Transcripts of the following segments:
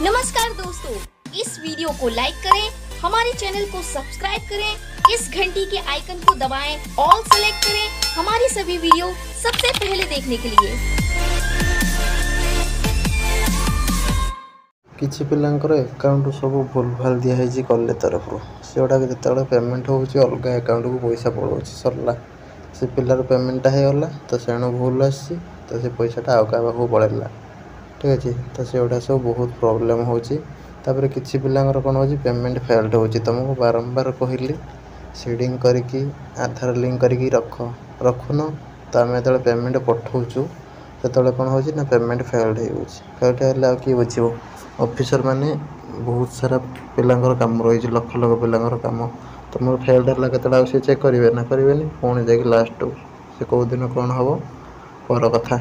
नमस्कार दोस्तों, इस वीडियो को लाइक करें, हमारे चैनल को सब्सक्राइब करें, इस घंटी के आइकन को दबाएं, ऑल सेलेक्ट करें हमारी सभी वीडियो सबसे पहले देखने के लिए। କିଛି ପିଲାଙ୍କର ଆକାଉଣ୍ଟ ସବୁ ଭୁଲଭାଲ ଦିଆହେଇଛି କଲେଜ ତରଫରୁ। ସେଗୁଡ଼ାକ ଯେତେବେଳେ ପେମେଣ୍ଟ ହେଉଛି, ଅଲଗା ଆକାଉଣ୍ଟକୁ ପଇସା ପଳାଉଛି। ସରିଲା, ସେ ପିଲାର ପେମେଣ୍ଟଟା ହେଇଗଲା ତ ସେଣୁ ଭୁଲ ଆସିଛି ତ ସେ ପଇସାଟା ଆଉ କାହା ପାଖକୁ ପଳେଇଲା। ଠିକ୍ ଅଛି, ତ ସେଗୁଡ଼ା ସବୁ ବହୁତ ପ୍ରୋବ୍ଲେମ୍ ହେଉଛି। ତାପରେ କିଛି ପିଲାଙ୍କର କ'ଣ ହେଉଛି, ପେମେଣ୍ଟ ଫେଲ୍ଡ ହେଉଛି। ତୁମକୁ ବାରମ୍ବାର କହିଲି, ସିଡ଼ିଂ କରିକି ଆଧାର ଲିଙ୍କ୍ କରିକି ରଖ। ରଖୁନ ତ। ଆମେ ଯେତେବେଳେ ପେମେଣ୍ଟ ପଠାଉଛୁ, ସେତେବେଳେ କ'ଣ ହେଉଛି ନା ପେମେଣ୍ଟ ଫେଲ୍ଡ ହେଇଯାଉଛି। ଫେଲ୍ଡ ହେଲେ ଆଉ କିଏ ବୁଝିବ? ଅଫିସର ମାନେ ବହୁତ ସାରା ପିଲାଙ୍କର କାମ ରହିଛି, ଲକ୍ଷ ଲକ୍ଷ ପିଲାଙ୍କର କାମ। ତୁମର ଫେଲ୍ଡ ହେଲା କେତେବେଳେ, ଆଉ ସେ ଚେକ୍ କରିବେ ନା କରିବେନି? ପୁଣି ଯାଇକି ଲାଷ୍ଟକୁ ସେ କେଉଁ ଦିନ କ'ଣ ହେବ ପର କଥା।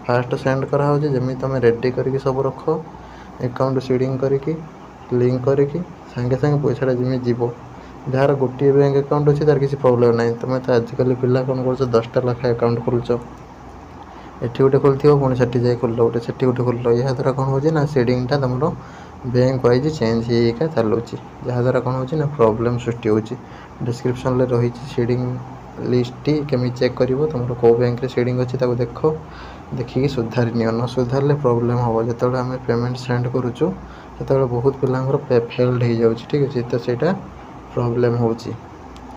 ଫାଷ୍ଟ ସେଣ୍ଡ କରାହେଉଛି। ଯେମିତି ତୁମେ ରେଡ଼ି କରିକି ସବୁ ରଖ, ଆକାଉଣ୍ଟ ସିଡ଼ିଂ କରିକି ଲିଙ୍କ୍ କରିକି ସାଙ୍ଗେ ସାଙ୍ଗେ ପଇସାଟା ଯେମିତି ଯିବ। ଯାହାର ଗୋଟିଏ ବ୍ୟାଙ୍କ ଆକାଉଣ୍ଟ ଅଛି, ତାର କିଛି ପ୍ରୋବ୍ଲେମ୍ ନାହିଁ। ତୁମେ ତ ଆଜିକାଲି ପିଲା କ'ଣ କରୁଛ, 10ଟା ଲେଖା ଆକାଉଣ୍ଟ ଖୋଲୁଛ। ଏଠି ଗୋଟେ ଖୋଲିଥିବ, ପୁଣି ସେଠି ଯାଇ ଖୋଲିଲ ଗୋଟେ, ସେଠି ଗୋଟେ ଖୋଲିଲ। ଏହାଦ୍ୱାରା କ'ଣ ହେଉଛି ନା ସିଡ଼ିଂଟା ତୁମର ବ୍ୟାଙ୍କ ୱାଇଜ୍ ଚେଞ୍ଜ ହେଇକା ଚାଲୁଛି, ଯାହାଦ୍ୱାରା କ'ଣ ହେଉଛି ନା ପ୍ରୋବ୍ଲେମ୍ ସୃଷ୍ଟି ହେଉଛି। ଡିସ୍କ୍ରିପ୍ସନ୍ରେ ରହିଛି ସିଡ଼ିଂ ଲିଷ୍ଟଟି, କେମିତି ଚେକ୍ କରିବ, ତୁମର କେଉଁ ବ୍ୟାଙ୍କରେ ସିଡ଼ିଂ ଅଛି ତାକୁ ଦେଖ। ଦେଖିକି ସୁଧାରି ନିଅ। ନ ସୁଧାରିଲେ ପ୍ରୋବ୍ଲେମ୍ ହେବ। ଯେତେବେଳେ ଆମେ ପେମେଣ୍ଟ ସେଣ୍ଡ କରୁଛୁ, ସେତେବେଳେ ବହୁତ ପିଲାଙ୍କର ଫେଲ୍ଡ ହେଇଯାଉଛି। ଠିକ୍ ଅଛି, ତ ସେଇଟା ପ୍ରୋବ୍ଲେମ୍ ହେଉଛି।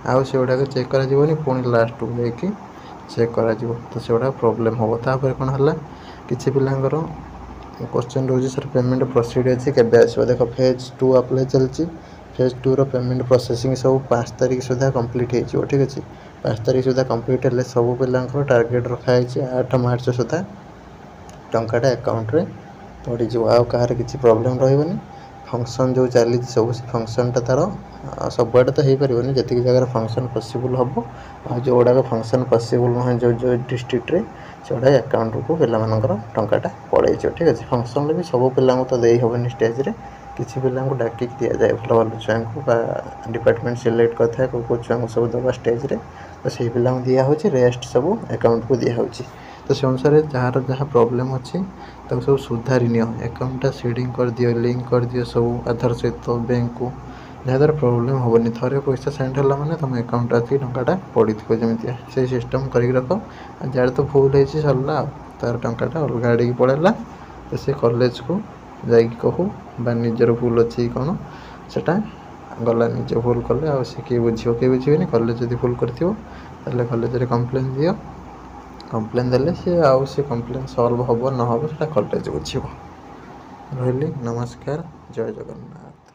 ଆଉ ସେଗୁଡ଼ାକ ଚେକ୍ କରାଯିବନି, ପୁଣି ଲାଷ୍ଟକୁ ଯାଇକି ଚେକ୍ କରାଯିବ, ତ ସେଗୁଡ଼ା ପ୍ରୋବ୍ଲେମ୍ ହେବ। ତାପରେ କ'ଣ ହେଲା, କିଛି ପିଲାଙ୍କର କ୍ୱେଶ୍ଚନ୍ ରହୁଛି, ସାର୍, ପେମେଣ୍ଟ ପ୍ରୋସିଡ଼ ଅଛି, କେବେ ଆସିବ? ଦେଖ, ଫେଜ୍ 2 ଆପ୍ଲାଏ ଚାଲିଛି। ଫେଜ୍ 2ର ପେମେଣ୍ଟ ପ୍ରୋସେସିଂ ସବୁ 5 ତାରିଖ ସୁଦ୍ଧା କମ୍ପ୍ଲିଟ୍ ହେଇଯିବ। ଠିକ୍ ଅଛି, 5 ତାରିଖ ସୁଦ୍ଧା କମ୍ପ୍ଲିଟ୍ ହେଲେ ସବୁ ପିଲାଙ୍କର ଟାର୍ଗେଟ୍ ରଖାହେଇଛି 8 ମାର୍ଚ୍ଚ ସୁଦ୍ଧା ଟଙ୍କାଟା ଆକାଉଣ୍ଟରେ ପଡ଼ିଯିବ। ଆଉ କାହାର କିଛି ପ୍ରୋବ୍ଲେମ୍ ରହିବନି। ଫଙ୍କସନ୍ ଯେଉଁ ଚାଲିଛି ସବୁ, ସେ ଫଙ୍କସନ୍ଟା ତା'ର ସବୁଆଡ଼େ ତ ହେଇପାରିବନି। ଯେତିକି ଜାଗାରେ ଫଙ୍କସନ୍ ପସିବୁଲ୍ ହେବ, ଆଉ ଯେଉଁଗୁଡ଼ାକ ଫଙ୍କସନ୍ ପସିବୁଲ୍ ନୁହେଁ ଯେଉଁ ଯେଉଁ ଡିଷ୍ଟ୍ରିକ୍ଟରେ, ସେଗୁଡ଼ାକ ଆକାଉଣ୍ଟକୁ ପିଲାମାନଙ୍କର ଟଙ୍କାଟା ପଳେଇଯିବ। ଠିକ୍ ଅଛି, ଫଙ୍କସନ୍ରେ ବି ସବୁ ପିଲାଙ୍କୁ ତ ଦେଇ ହେବନି ଷ୍ଟେଜ୍ରେ। କିଛି ପିଲାଙ୍କୁ ଡାକିକି ଦିଆଯାଏ, ଭଲ ଭଲ ଛୁଆଙ୍କୁ, ବା ଡିପାର୍ଟମେଣ୍ଟ ସିଲେକ୍ଟ କରିଥାଏ କେଉଁ କେଉଁ ଛୁଆଙ୍କୁ ସବୁ ଦେବା ଷ୍ଟେଜ୍ରେ। ତ ସେଇ ପିଲାଙ୍କୁ ଦିଆହେଉଛି, ରେଷ୍ଟ ସବୁ ଆକାଉଣ୍ଟକୁ ଦିଆହେଉଛି। ତ ସେ ଅନୁସାରେ ଯାହାର ଯାହା ପ୍ରୋବ୍ଲେମ୍ ଅଛି, ତାକୁ ସବୁ ସୁଧାରି ନିଅ। ଆକାଉଣ୍ଟଟା ସିଡ଼ିଂ କରିଦିଅ, ଲିଙ୍କ୍ କରିଦିଅ ସବୁ ଆଧାର ସହିତ ବ୍ୟାଙ୍କକୁ, ଯାହାଦ୍ୱାରା ପ୍ରୋବ୍ଲେମ୍ ହେବନି। ଥରେ ପଇସା ସେଣ୍ଡ ହେଲା ମାନେ ତୁମ ଆକାଉଣ୍ଟରେ ଆସିକି ଟଙ୍କାଟା ପଡ଼ିଥିବ ଯେମିତିଆ, ସେଇ ସିଷ୍ଟମ୍ କରିକି ରଖ। ଆଉ ଯାହାର ତ ଭୁଲ ହେଇଛି, ସରିଲା, ଆଉ ତାର ଟଙ୍କାଟା ଅଲଗା ଆଡ଼ିକି ପଳେଇଲା। ତ ସେ କଲେଜକୁ ଯାଇକି କହୁ ବା ନିଜର ଭୁଲ ଅଛି କି କ'ଣ, ସେଟା ଗଲା। ନିଜେ ଭୁଲ କଲେ ଆଉ ସେ କିଏ ବୁଝିବ? କିଏ ବୁଝିବେନି। କଲେଜ ଯଦି ଭୁଲ କରିଥିବ, ତାହେଲେ କଲେଜରେ କମ୍ପ୍ଲେନ୍ ଦିଅ। କମ୍ପ୍ଲେନ୍ ଦେଲେ ସେ ଆଉ ସେ କମ୍ପ୍ଲେନ୍ ସଲ୍ଭ ହେବ ନ ହେବ, ସେଟା କଲେଜ ବୁଝିବ। ରହିଲି, ନମସ୍କାର, ଜୟ ଜଗନ୍ନାଥ।